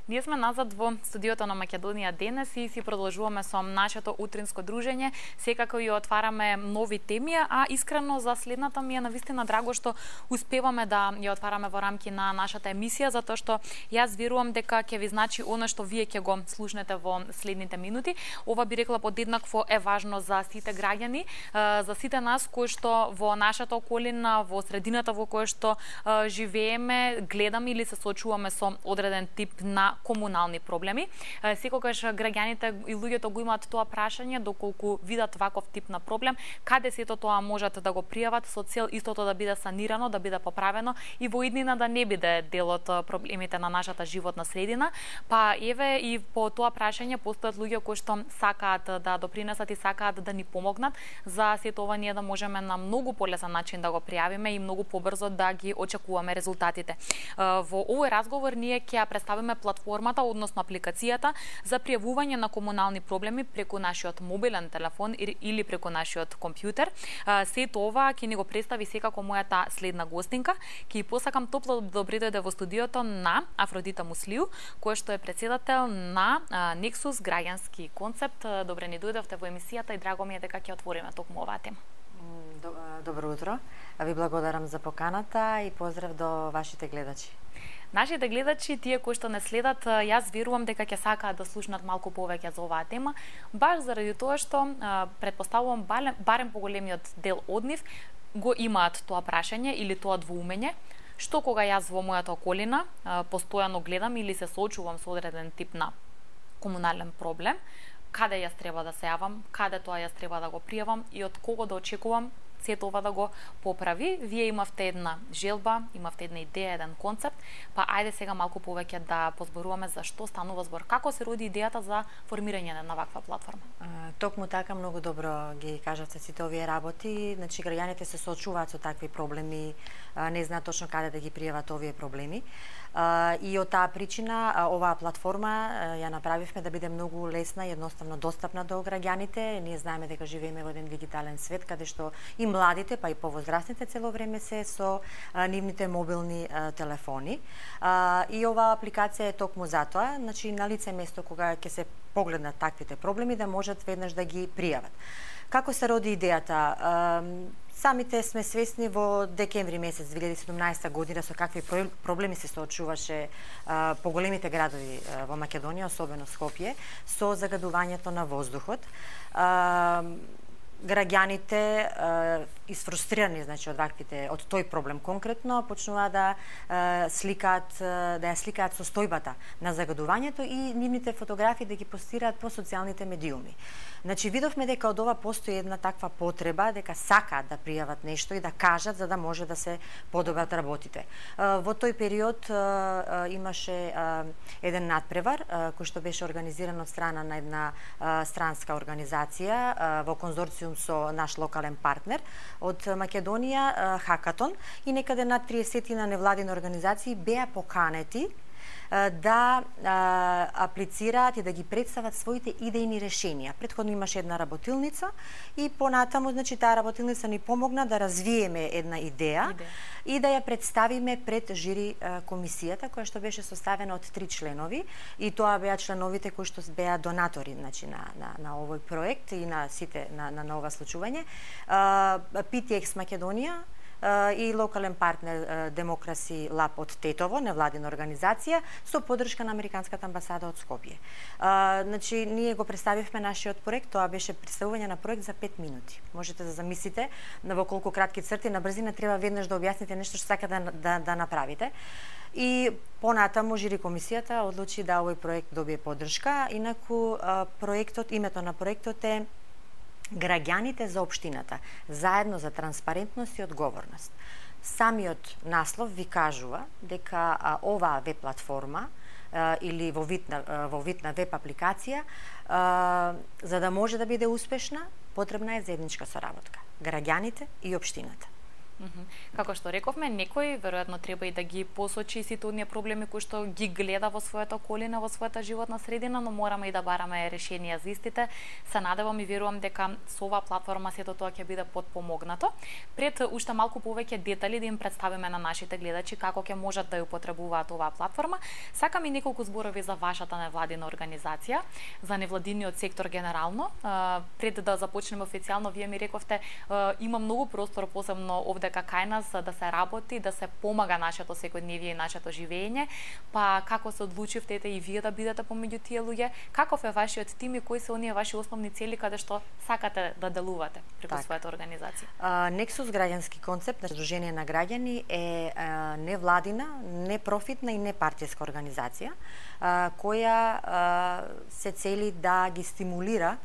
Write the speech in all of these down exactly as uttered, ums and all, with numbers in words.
Ние сме назад во студиото на Македонија денес и си продолжуваме со нашето утринско дружење. Секако ја отвараме нови теми, а искрено за следната ми е навистина драго што успеваме да ја отвараме во рамки на нашата емисија, затоа што јас верувам дека ќе ви значи она што вие ќе го слушнете во следните минути. Ова би рекла подеднакво е важно за сите граѓани, за сите нас кои што во нашата околина, во средината во која што живееме, гледаме или се соочуваме со одреден тип на комунални проблеми. Секогаш граѓаните и луѓето го имаат тоа прашање доколку видат ваков тип на проблем, каде сето тоа можат да го пријават со цел истото да биде санирано, да биде поправено и во иднина да не биде дел од проблемите на нашата животна средина. Па еве и по тоа прашање постојат луѓе кои што сакаат да допринесат и сакаат да ни помогнат за сето ова ние да можеме на многу полесен начин да го пријавиме и многу побрзо да ги очекуваме резултатите. Во овој разговор ние ќе ја представиме платформата, односно апликацијата за пријавување на комунални проблеми преку нашиот мобилен телефон или преку нашиот компјутер. Сето ова ќе ни го представи секако мојата следна гостинка. Ќе ја посакам топло добре дојде во студиото на Афродита Муслију, која што е председател на Nexus граѓански концепт. Добре ни дојдовте во емисијата и драго ми е дека ќе отвориме токму оваа тема. Добро утро. Ви благодарам за поканата и поздрав до вашите гледачи. Нашите гледачи, тие кои што не следат, јас верувам дека ќе сакаат да слушнат малку повеќе за оваа тема, баш заради тоа што претпоставувам барем, барем поголемиот дел од нив го имаат тоа прашање или тоа двоумење, што кога јас во мојата околина постојано гледам или се соочувам со одреден тип на комунален проблем, каде јас треба да се јавам, каде тоа јас треба да го пријавам и од кого да очекувам сето ова да го поправи. Вие имавте една желба, имавте една идеја, еден концепт, па ајде сега малку повеќе да позборуваме за што станува збор. Како се роди идејата за формирање на ваква платформа? А, токму така, многу добро ги кажавте сите овие работи. Значи, граѓаните се соочуваат со такви проблеми, а, не знаат точно каде да ги пријават овие проблеми. А, и од таа причина а, оваа платформа а, ја направивме да биде многу лесна и едноставно достапна до граѓаните. Ние знаеме дека живееме во еден дигитален свет каде што и младите, па и повозрастните цело време се со а, нивните мобилни а, телефони. А, и оваа апликација е токму затоа, значи на лице место кога ќе се погледнат таквите проблеми да можат веднаш да ги пријават. Како се роди идејата? А, Самите сме свесни во декември месец две илјади и седумнаесета година со какви проблеми се соочуваше а, по големите градови а, во Македонија, особено Скопје, со загадувањето на воздухот. А, граѓаните исфрустрирани, значи од ваквите, од тој проблем конкретно, почнуваат да а, сликаат, да ја сликаат состојбата на загадувањето и нивните фотографии да ги постираат по социјалните медиуми. Значи видовме дека од ова постои една таква потреба дека сакаат да пријават нешто и да кажат за да може да се подобрат работите. Во тој период имаше еден надпревар кој што беше организиран од страна на една странска организација во конзорциум со наш локален партнер од Македонија, Хакатон, и некаде над триесет невладини организации беа поканети да а, аплицираат и да ги представат своите идејни решенија. Претходно имаше една работилница и понатаму, значи, таа работилница ни помогна да развиеме една идеја, идеја. и да ја представиме пред жири а, комисијата, која што беше составена од три членови, и тоа беа членовите кои што беа донатори, значи, на, на, на овој проект и на сите на, на, на ова случување. пи ти екс Македонија и локален партнер Демокраси Лаб од Тетово, невладина организација, со поддршка на Американската амбасада од Скопје. А, значи, ние го представивме нашиот проект, тоа беше представување на проект за пет минути. Можете да замислите во колку кратки црти на брзина треба веднаш да објасните нешто што сака да, да, да направите. И понатаму жири комисијата одлучи да овој проект добие поддршка, инаку проектот, името на проектот е Граѓаните за општината, заедно за транспарентност и одговорност. Самиот наслов ви кажува дека а, оваа веб платформа а, или во вид на, во вид на веб апликација, а, за да може да биде успешна, потребна е заедничка соработка. Граѓаните и општината. Mm -hmm. Како што рековме, некој веројатно треба и да ги посочи сите оние проблеми кои што ги гледа во својата околина, во својата животна средина, но мораме и да бараме решенија за истите. Се надевам и верувам дека со оваа платформа сето тоа ќе биде потпомогнато. Пред уште малку повеќе детали да им представиме на нашите гледачи како ќе можат да ја употребуваат оваа платформа, сакам и неколку зборови за вашата невладина организација, за невладиниот сектор генерално. Пред да започнеме официјално, вие ми рековте има многу простор, посебно овде кај нас, да се работи, да се помага нашето секојдневие и нашето живење. Па како се одлучивте и вие да бидете помеѓу тие луѓе? Каков е вашиот тим и кои се оние ваши основни цели каде што сакате да делувате преку так. својата организација? Nexus граѓански концепт на Сдружение на граѓани е а, невладина, непрофитна и непартијска организација а, која а, се цели да ги стимулира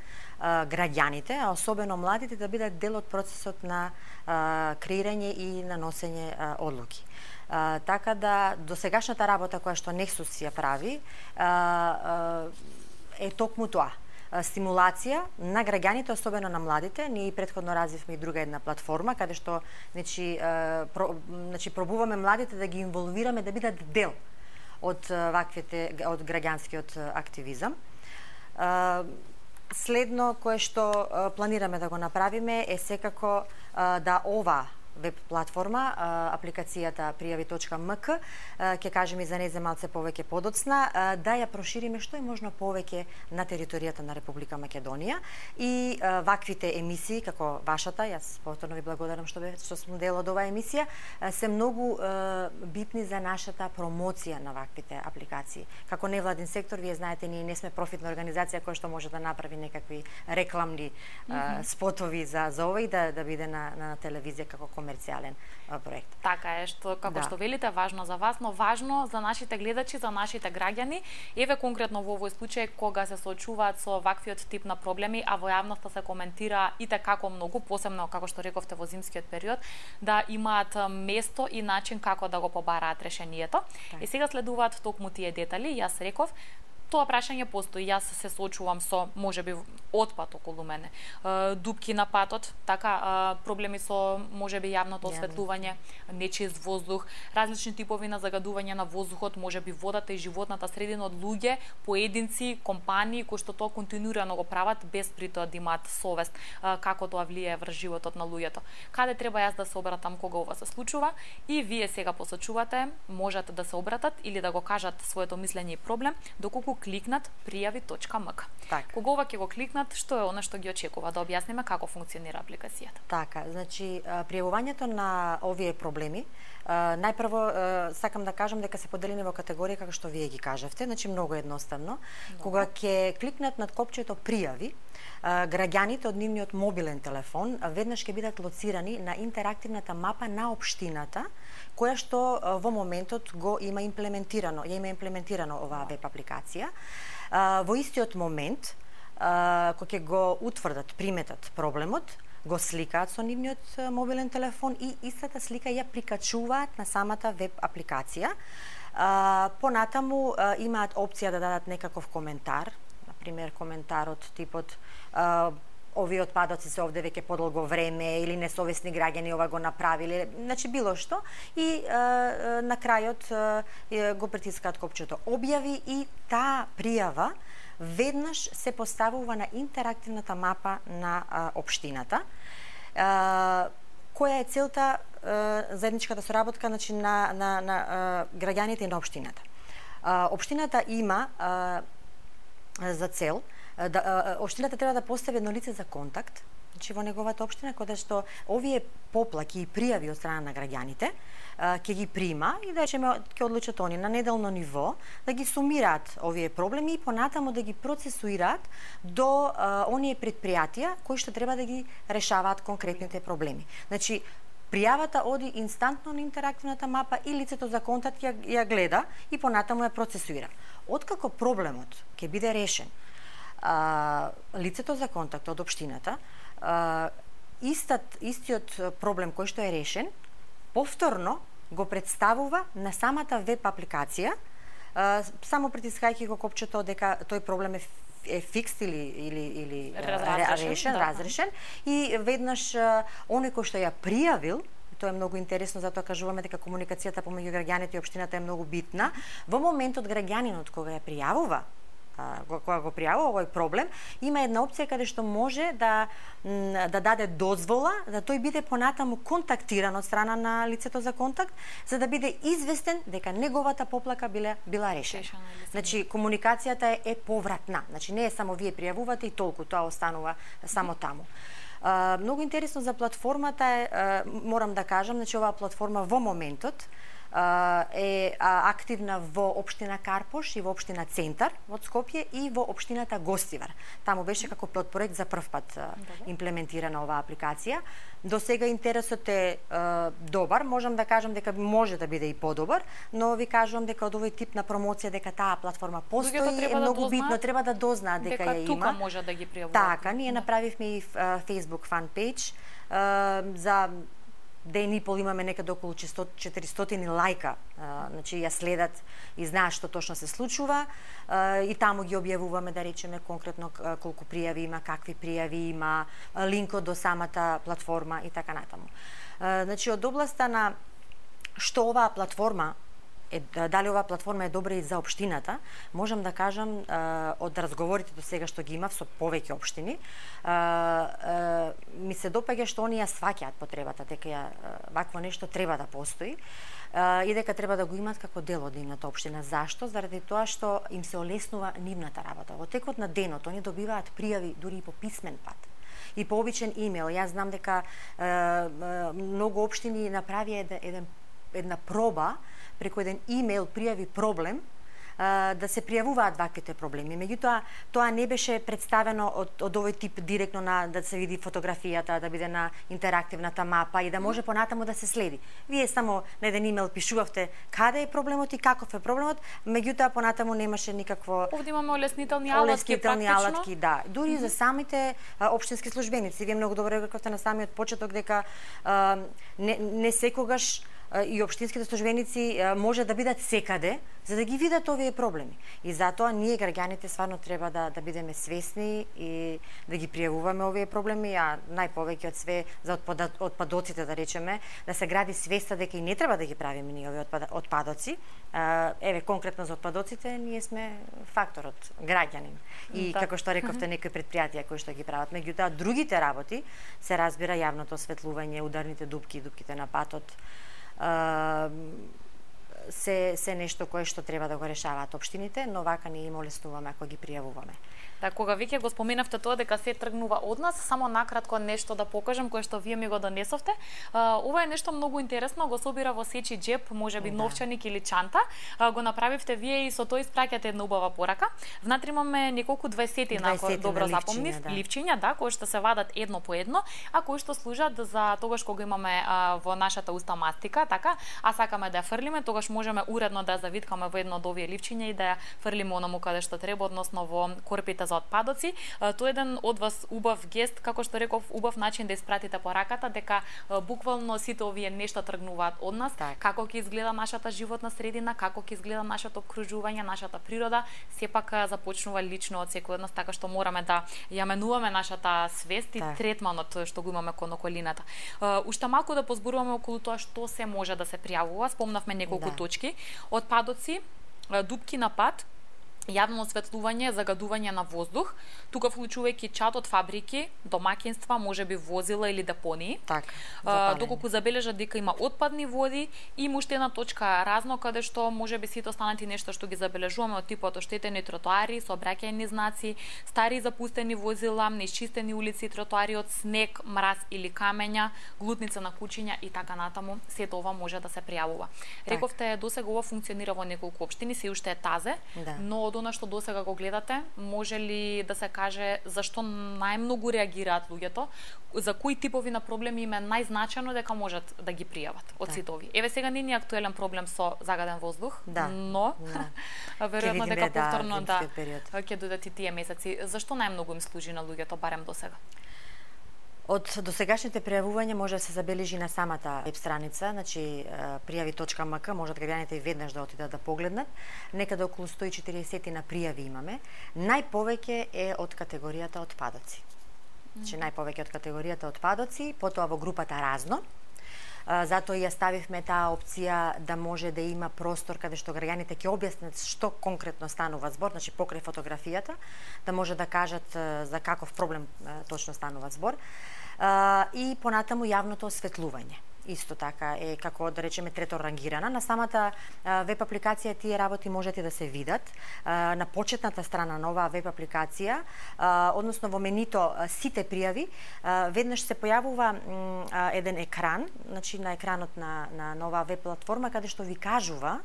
граѓаните, а особено младите, да бидат дел од процесот на а, креирање и на носење а, одлуки. А, така да досегашната работа која што Nexus ја прави а, а, е токму тоа. Стимулација на граѓаните, особено на младите. Ние претходно развивме и друга една платформа каде што значи, про, значи пробуваме младите да ги инволвираме да бидат дел од ваквите од граѓанскиот активизам. Следно кое што планираме да го направиме е секако да ова веб платформа, апликацијата пријави точка ем ка, ќе кажеме и за незе малце повеќе подоцна, да ја прошириме што е можно повеќе на територијата на Република Македонија и ваквите емисии, како вашата, јас повторно ви благодарам што, бе, што сум дел од оваа емисија, се многу битни за нашата промоција на ваквите апликации. Како невладин сектор, вие знаете, ние не сме профитна организација која што може да направи некакви рекламни mm -hmm. спотови за, за ова и да, да биде на, на телевизија како комерцијален проект. Така е, што како да. што велите, важно за вас, но важно за нашите гледачи, за нашите граѓани. Еве конкретно во овој случај кога се соочуваат со ваквиот тип на проблеми, а во јавноста се коментира и како многу, посебно како што рековте во зимскиот период, да имаат место и начин како да го побараат решението. И сега следуваат токму тие детали. Јас реков тоа прашање постои. Јас се соочувам со можеби отпад околу мене, дупки на патот, така проблеми со можеби јавното осветлување, нечист воздух, различни типови на загадување на воздухот, можеби водата и животната средина од луѓе, поединци, компании кои што тоа континуирано го прават без при тоа да имаат совест како тоа влијае врз животот на луѓето. Каде треба јас да се обратам кога ова се случува? И вие сега посочувате, можат да се обратат или да го кажат своето мислење и проблем доколку кликнат пријави точка ем ка. Кога ова ќе го кликнат, што е она што ги очекува? Да објасниме како функционира апликацијата. Така, значи пријавувањето на овие проблеми, најпрво сакам да кажам дека се поделени во категории како што вие ги кажавте, значи многу едноставно. Добре. Кога ќе кликнат над копчето пријави, граѓаните од нивниот мобилен телефон веднаш ќе бидат лоцирани на интерактивната мапа на општината, која што во моментот го има имплементирано, ја има имплементирано оваа веб апликација. Во истиот момент, кога ќе го утврдат, приметат проблемот, го сликаат со нивниот мобилен телефон и истата слика ја прикачуваат на самата веб апликација. Понатаму имаат опција да дадат некаков коментар, например коментарот типот овие отпадоци се овде веќе подолго време или несовесни граѓани ова го направиле, значи било што, и е, на крајот е, го притискаат копчето објави и таа пријава веднаш се поставува на интерактивната мапа на а, општината, а, која е целта а, заедничката соработка, значи, на, на, на а, граѓаните и на општината. А, општината има а, за цел да, општината треба да постави едно лице за контакт, значи во неговата општина, кога што овие поплаки и пријави од страна на граѓаните ќе ги прима и да речеме ќе одлучат они на неделно ниво да ги сумираат овие проблеми и понатаму да ги процесуираат до а, оние предпријатија кои што треба да ги решаваат конкретните проблеми. Значи пријавата оди инстантно на интерактивната мапа и лицето за контакт ја, ја гледа и понатаму ја процесуира. Откако проблемот ќе биде решен, а, лицето за контакт од општината, а, истат, истиот проблем кој што е решен, повторно го представува на самата веб апликација, а, само притискајќи го копчето дека тој проблем е е фикс или или или разрешен, решен, да. разрешен и веднаш оној кој што ја пријавил Тоа е многу интересно, затоа кажуваме дека комуникацијата помеѓу граѓаните и општината е многу битна. Во моментот граѓанинот кога ја пријавува кога го пријавува овој проблем, има една опција каде што може да да даде дозвола да тој биде понатаму контактиран од страна на лицето за контакт, за да биде известен дека неговата поплака била била решена. Значи комуникацијата е, е повратна. Значи не е само вие пријавувате и толку, тоа останува само таму. Uh, многу интересно за платформата е, uh, морам да кажам, значи оваа платформа во моментот е активна во општина Карпош и во општина Центар во Скопје и во општината Гостивар. Таму беше како пилот проект за прв пат имплементирана оваа апликација. До сега интересот е добар, можам да кажам дека може да биде и подобар, но ви кажувам дека од овој тип на промоција дека таа платформа постои е многу битно, треба да дознаат дека ја има. Дека тука може да ги пријавуваат. Така, ние направивме и Facebook фан пејдж за ден и пол, имаме некаде околу четиристотини лајка, а, значи ја следат и знаат што точно се случува, а, и таму ги објавуваме, да речеме конкретно колку пријави има, какви пријави има, линкот до самата платформа и така натаму. А, значи од областа на што оваа платформа е, дали оваа платформа е добра и за општината, можам да кажам од разговорите до сега што ги имав со повеќе општини, ми се допаѓа што они ја сваќаат потребата дека ја вакво нешто треба да постои и дека треба да го имаат како дел од нивната општина. Зашто? Заради тоа што им се олеснува нивната работа. Во текот на денот они добиваат пријави дури и по писмен пат и по обичен имејл. Јас знам дека многу општини направи еден една проба преку еден имејл пријави проблем, да се пријавуваат ваквите проблеми. Меѓутоа, тоа не беше представено од, од овој тип директно на да се види фотографијата, да биде на интерактивната мапа и да може понатаму да се следи. Вие само на еден имејл пишувавте каде е проблемот и каков е проблемот, меѓутоа понатаму немаше никакво. Овде имаме олеснителни алатки, олеснителни алатки, да. Дури mm -hmm. за самите а, општински службеници. Вие многу добро рековте на самиот почеток дека а, не, не секогаш и општинските службеници може да бидат секаде за да ги видат овие проблеми. И затоа ние граѓаните стварно треба да да бидеме свесни и да ги пријавуваме овие проблеми, а најповеќе од све за отпадоците, да речеме, да се гради свеста дека и не треба да ги правиме ние овие отпадоци. Еве конкретно за отпадоците ние сме факторот граѓанин. И да. Како што рековте, некои предпријатија кои што ги прават, меѓутоа другите работи се разбира јавното осветлување, ударните дупки, дупките на патот, се се нешто кое што треба да го решаваат општините, но вака ние им олеснуваме ако ги пријавуваме. Да, кога веќе го споменавте тоа дека се тргнува од нас, само накратко нешто да покажам кое што вие ми го донесовте. Ова е нешто многу интересно, го собира во сечи џеп, можеби да. Новчаник или чанта. Го направивте вие и со тоа испраќате една убава порака. Внатре имаме неколку дваесетина, ако добро запомнив, да. Ливчиња, да, кои што се вадат едно по едно, а кои што служат за тогаш кога имаме а, во нашата уста мастика, така, а сакаме да ја фрлиме, тогаш можеме уредно да ја завиткаме во едно од овие ливчиња и да ја фрлиме онаму каде што треба, односно во корпите за отпадоци. Тоа е еден од вас убав гест, како што реков, убав начин да испратите пораката дека буквално сите овие нешта тргнуваат од нас, так. Како ќе изгледа нашата животна средина, како ќе изгледа нашето окружување, нашата природа, сепак започнува лично од секој од нас, така што мораме да ја менуваме нашата свест и так. Третманот што го имаме кон околината. Уште малку да позборуваме околу тоа што се може да се пријавува. Спомнавме неколку да. Точки. Отпадоци, дупки на пат, јавно осветлување, загадување на воздух, тука вклучувајќи чад од фабрики, домаќинства, можеби возила или депонии. Так, а, доколку забележат дека има отпадни води, и уште една точка разно каде што можеби сите останати нешто што ги забележуваме од типот оштетени тротоари, сообраќајни знаци, стари запустени возила, неисчистени улици, тротоари од снег, мраз или камења, глутница на кучиња и така натаму. Сето ова може да се пријавува. Так. Рековте досега ова функционира во неколку општини, се уште е тазе, да. Но од она што досега го гледате, може ли да се каже зашто најмногу реагираат луѓето, за кои типови на проблеми им е најзначено дека можат да ги пријават од сите овие? Еве сега не е актуелен проблем со загаден воздух, да. Но да. Веројатно дека повторно да ќе додат и тие месеци. Зашто најмногу им служи на луѓето барем досега? Од досегашните пријавувања може да се забележи на самата веб страница, значи пријави точка ем ка, можат граѓаните и веднаш да отидат да погледнат. Некаде околу сто и четиридесет на пријави имаме. Најповеќе е од категоријата отпадоци. Значи најповеќе од категоријата отпадоци, потоа во групата разно. затоа ја ставивме таа опција да може да има простор каде што граѓаните ќе објаснат што конкретно станува збор, значи покрај фотографијата, да може да кажат за каков проблем точно станува збор. И понатаму јавното осветлување. Исто така е како да речеме трето рангирана. На самата веб апликација тие работи можете да се видат. На почетната страна на оваа веб апликација, односно во менито сите пријави, веднаш се појавува еден екран, значи на екранот на, на, на оваа веб платформа, каде што ви кажува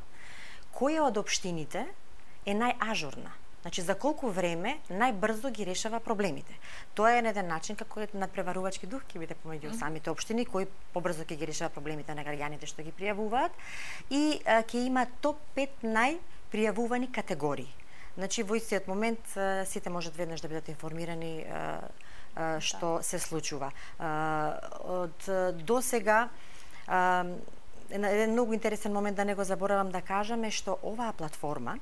која од општините е најажурна. Значи, за колку време најбрзо ги решава проблемите. Тоа е еден начин како надпреварувачки дух ќе биде помеѓу самите општини кои побрзо ќе ги решава проблемите на граѓаните што ги пријавуваат и ќе има топ пет најпријавувани категории. Значи, во истиот момент сите можат веднаш да бидат информирани што се случува. Од досега еден многу интересен момент да не го заборавам да кажам е што оваа платформа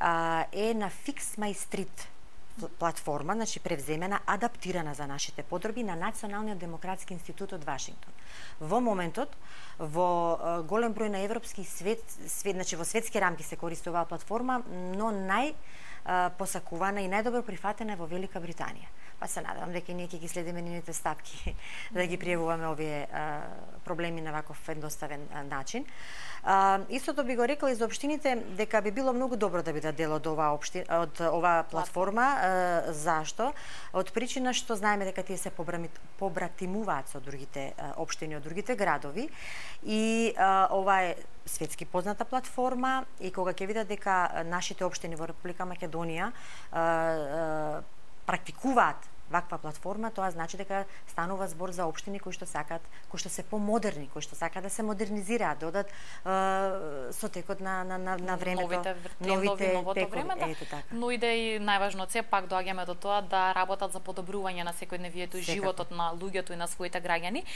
е на Fix My Street платформа, значи превземена, адаптирана за нашите потреби на Националниот демократски институт од Вашингтон. Во моментот, во голем број на европски свет, свет значи во светски рамки се користи оваа платформа, но нај посакувана и најдобро прифатена во Велика Британија. Па се надевам дека ние ќе ги следиме нивните стапки да ги пријавуваме овие а, проблеми на ваков едноставен а, начин. А, истото би го рекла и за општините дека би било многу добро да бидат дел од оваа општи... од оваа платформа. А, зашто? Од причина што знаеме дека тие се побратимуваат со другите а, општини од другите градови и а, ова е светски позната платформа и кога ќе видат дека нашите општини во Република Македонија а, а, практикуваат ваква платформа, тоа значи дека станува збор за општини кои што сакаат, кои што се помодерни, кои што сакаат да се модернизираат, да одат е, со текот на на на, на времето, новите, новите новото текови, време, да. Ето така. Но и да и најважно се пак доаѓаме до тоа да работат за подобрување на секојдневието и животот на луѓето и на своите граѓани.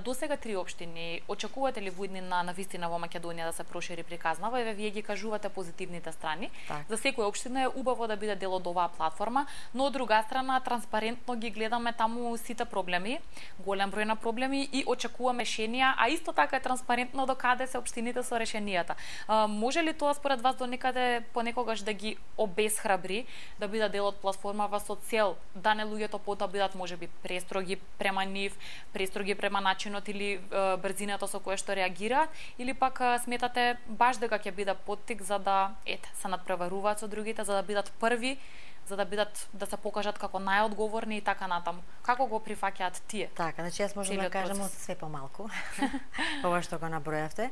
До сега три општини. Очекувате ли во иднина на вистина во Македонија да се прошири приказнава? Еве вие ги кажувате позитивните страни. Так. За секоја општина е убаво да биде дел од оваа платформа, но од друга страна транспарентно ги гледаме таму сите проблеми, голем број на проблеми и очекуваме решенија, а исто така е транспарентно до каде се општините со решенијата. А, може ли тоа според вас до некаде понекогаш да ги обесхрабри да бидат дел од платформава со цел да не луѓето потоа бидат можеби престроги према нив, престроги према начинот или е, брзината со која што реагираат, или пак е, сметате баш дека ќе биде поттик за да ете се надпреваруваат со другите, за да бидат први, за да бидат да се покажат како најодговорни и така натаму. Како го прифаќаат тие? Така, значи јас можам да кажам од све помалку. Ова што го набројавте.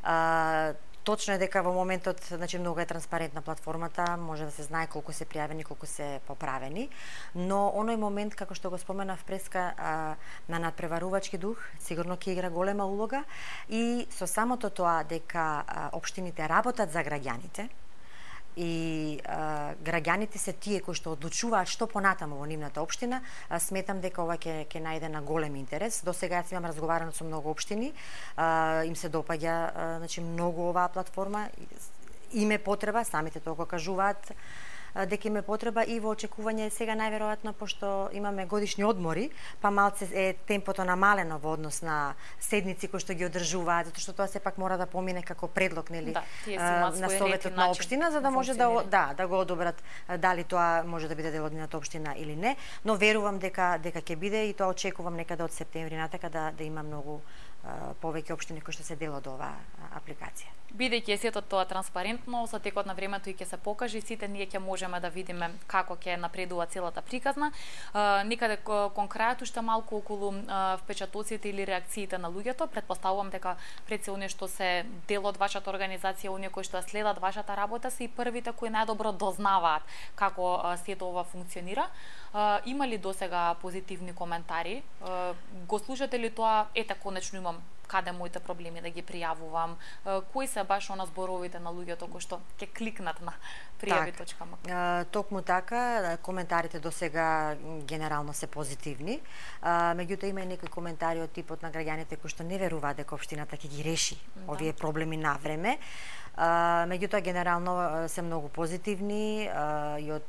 А, точно е дека во моментот, значи многу е транспарентна платформата, може да се знае колку се пријавени, колку се поправени, но оној момент како што го споменав преска а, на надпреварувачки дух, сигурно ќе игра голема улога и со самото тоа дека а, општините работат за граѓаните, и а, граѓаните се тие кои што одлучуваат што понатаму во нивната општина, а, сметам дека ова ќе ќе најде на голем интерес. До сега јас имам разговарано со многу општини, а, им се допаѓа а, значи многу оваа платформа, име потреба, самите тоа го кажуваат дека име потреба и во очекување сега најверојатно пошто имаме годишни одмори, па малце е темпото намалено во однос на седници кои што ги одржуваат, затоа што тоа сепак мора да помине како предлог, нели, да, на советот на општина за да може да да да го одобрат дали тоа може да биде дел од нивната општина или не, но верувам дека дека ќе биде и тоа очекувам некаде од септември натака да да има многу повеќе општини кои што се дел од оваа апликација. Бидејќи е сето тоа транспарентно, со текот на времето и ќе се покаже, сите ние ќе можеме да видиме како ќе напредува целата приказна. А, некаде кон крајот уште малку околу а, впечатоците или реакциите на луѓето. Претпоставувам дека пред се оние што се дел од вашата организација, оние кои што следат вашата работа, се и првите кои најдобро дознаваат како а, сето ова функционира. А, има ли досега позитивни коментари? А, го слушате ли тоа? Ете, конечно имам каде моите проблеми да ги пријавувам, кои се баш она зборовите на луѓето кои што ќе кликнат на пријави точка м к. Токму така, коментарите до сега генерално се позитивни. Меѓутоа има и некои коментари од типот на граѓаните кои што не веруваат дека општината ќе ги реши да. овие проблеми на време. Меѓутоа генерално се многу позитивни и од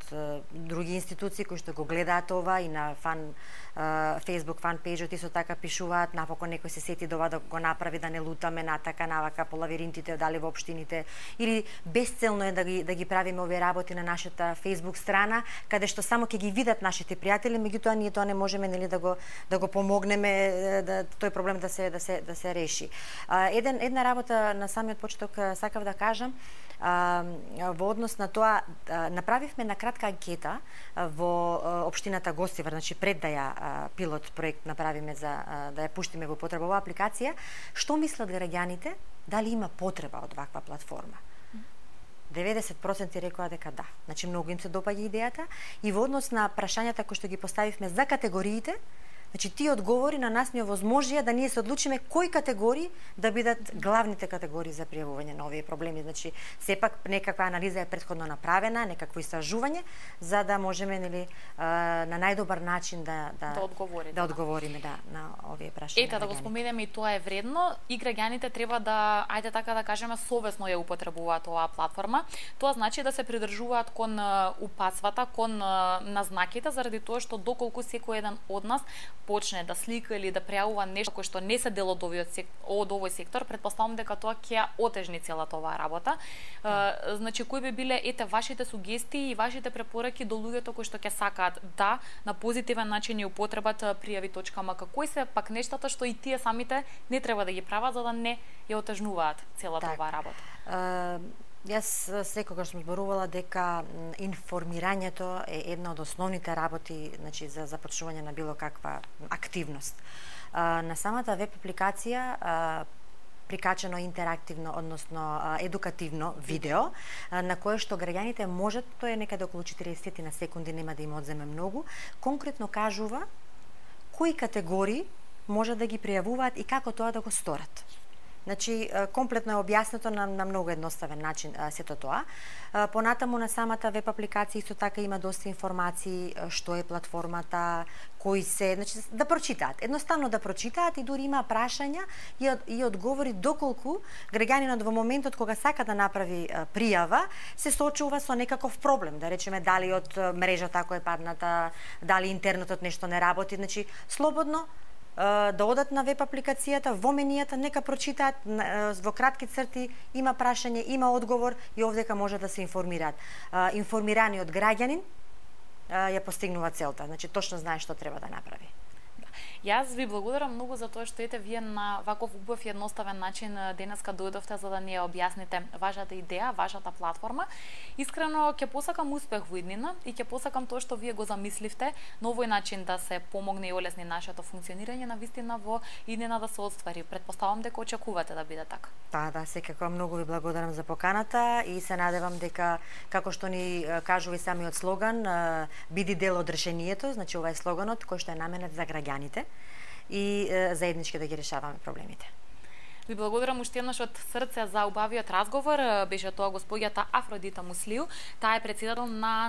други институции кои што го гледаат ова и на фан Facebook фан пејџот исто така пишуваат, напокон некој се сети да ова да, го направи да не лутаме натака навака по лавиринтите дали во општините, или безцелно е да ги да ги правиме овие работи на нашата Facebook страна, каде што само ќе ги видат нашите пријатели, меѓутоа ние тоа не можеме нели да го да го помогнеме да тој проблем да се да се да се реши. А, еден една работа на самиот почеток сакав да кажам, а, во однос на тоа а, направивме на кратка анкета а, во а, општината Гостивар, значи пред да ја а, пилот проект направиме за а, да ја пуштиме во употреба оваа апликација, што мислат граѓаните, дали има потреба од ваква платформа? деветдесет проценти рекоа дека да. Значи многу им се допаѓа идејата и во однос на прашањата кои што ги поставивме за категориите, значи тие одговори на нас ни овозможија да ние се одлучиме кои категории да бидат главните категории за пријавување на овие проблеми. Значи сепак некаква анализа е претходно направена, некакво истражување за да можеме нели на најдобар начин да да да одговориме, да одговориме да на овие прашања. Ете да го споменеме и тоа е вредно и граѓаните треба да ајде така да кажеме совесно ја употребуваат оваа платформа. Тоа значи да се придржуваат кон упатствата, кон назнаките, заради тоа што доколку секој еден од нас почне да слика или да пријавува нешто кој што не се дел од овој од овој сектор, претпоставувам дека тоа ќе отежни целата оваа работа. Mm. Значи кои би биле ете вашите сугестии и вашите препораки до луѓето кои што ќе сакаат да на позитивен начин ја употребат пријави точка ем ка? Кои се пак нештата што и тие самите не треба да ги прават за да не ја отежнуваат целата так. оваа работа? Uh... Јас секогаш сум зборувала дека информирањето е една од основните работи, значи за започнување на било каква активност. На самата веб апликација прикачено интерактивно, односно едукативно видео, на кое што граѓаните можат, тоа е некаде околу четириесет на секунди, нема да им одземе многу, конкретно кажува кои категории можат да ги пријавуваат и како тоа да го сторат. Значи, комплетно е објаснето на, на многу едноставен начин сето тоа. Понатаму на самата веб апликација исто така има доста информации што е платформата, кои се, значи да прочитаат, едноставно да прочитаат и дури има прашања и, и одговори доколку граѓанинот во моментот кога сака да направи пријава се соочува со некаков проблем, да речеме дали од мрежата ако е падната, дали интернетот нешто не работи, значи слободно да одат на веб апликацијата, во менијата, нека прочитаат во кратки црти, има прашање, има одговор и овдека може да се информираат. Информираниот граѓанин ја постигнува целта, значи точно знае што треба да направи. Јас ви благодарам многу за тоа што ете вие на ваков убав и едноставен начин денеска дојдовте за да ни ја објасните вашата идеја, вашата платформа. Искрено ќе посакам успех во иднина и ќе посакам тоа што вие го замисливте на овој начин да се помогне и олесни нашето функционирање на вистина во иднина да се оствари. Претпоставам дека очекувате да биде така. Да, да, секако многу ви благодарам за поканата и се надевам дека како што ни кажува и самиот слоган, биди дел од решението, значи ова е слоганот кој што е наменет за граѓаните и е, заеднички да ги решаваме проблемите. Ви благодарам уште еднаш од срце за убавиот разговор. Беше тоа госпоѓата Афродита Муслиу. Таа е председател на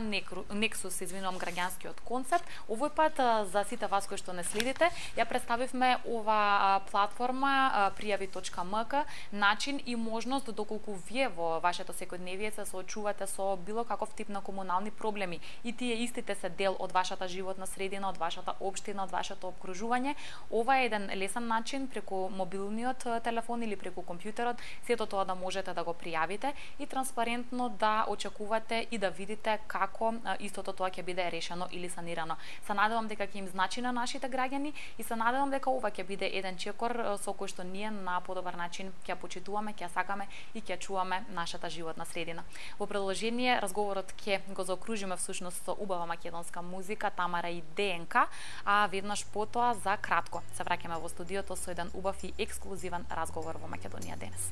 Nexus, извинувам, граѓанскиот концепт. Овој пат за сите вас кои што не следите, ја представивме ова платформа пријави точка ем ка, начин и можност доколку вие во вашето секојдневие се соочувате со било каков тип на комунални проблеми и тие истите се дел од вашата животна средина, од вашата општина, од вашето обкружување. Ова е еден лесен начин преку мобилниот телефон или преку компјутерот, сето тоа да можете да го пријавите и транспарентно да очекувате и да видите како истото тоа ќе биде решено или санирано. Се надевам дека ќе им значи на нашите граѓани и се надевам дека ова ќе биде еден чекор со кој што ние на подобар начин ќе почитуваме, ќе сакаме и ќе чуваме нашата животна средина. Во продолжение разговорот ќе го заокружиме всушност со убава македонска музика Тамара и ДНК, а веднаш потоа за кратко се враќаме во студиото со еден убав и ексклузивен разговор во Македонија денес.